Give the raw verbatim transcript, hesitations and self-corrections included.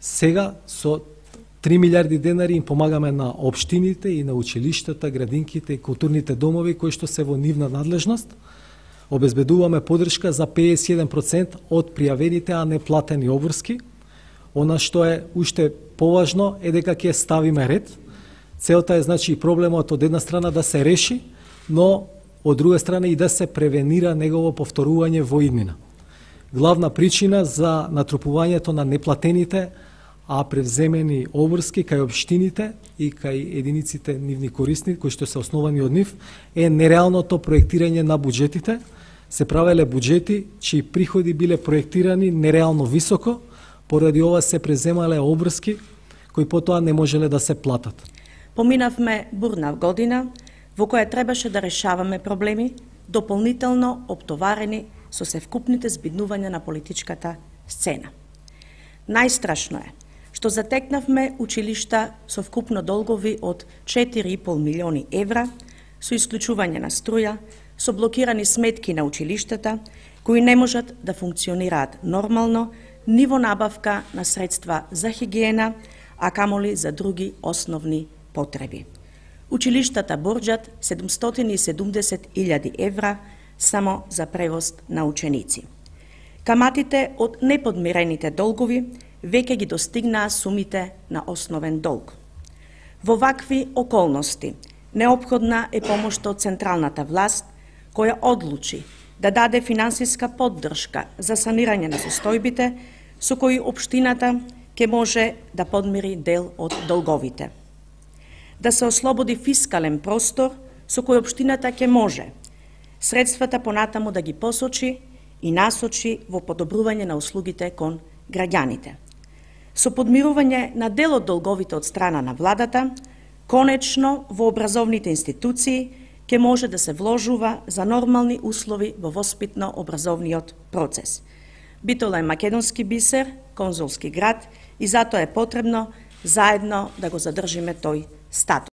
Сега со три милиарди денари им помагаме на општините и на училиштата, градинките и културните домови кои што се во нивна надлежност. Обезбедуваме поддршка за педесет и еден проценти од пријавените, а не платени обврски. Она што е уште поважно е дека ќе ставиме ред. Целта е значи проблемот од една страна да се реши, но од друга страна и да се превенира негово повторување во иднина. Главна причина за натрупувањето на неплатените, а превземени обврски кај општините и кај единиците нивни корисни, кои што се основани од нив, е нереалното проектирање на буџетите. Се правеле буџети чии приходи биле проектирани нереално високо, поради ова се преземале обврски кои потоа не можеле да се платат. Поминавме бурна година во која требаше да решаваме проблеми, дополнително оптоварени со севкупните збиднувања на политичката сцена. Најстрашно е што затекнавме училишта со вкупно долгови од четири и пол милиони евра, со исклучување на струја, со блокирани сметки на училиштата, кои не можат да функционираат нормално, ни во набавка на средства за хигиена, а камоли за други основни потреби. Училиштата борџат седумстотини и седумдесет илјади евра само за превоз на ученици. Каматите од неподмирените долгови веќе ги достигнаа сумите на основен долг. Во вакви околности неопходна е помошта од централната власт, која одлучи да даде финансиска поддршка за санирање на состојбите, со кои општината ќе може да подмири дел од долговите. Да се ослободи фискален простор со кој општината ќе може средствата понатаму да ги посочи и насочи во подобрување на услугите кон граѓаните. Со подмирување на дел од долговите од страна на владата, конечно во образовните институции ќе може да се вложува за нормални услови во воспитно-образовниот процес. Битола е македонски бисер, конзулски град и затоа е потребно заедно да го задржиме тој статус.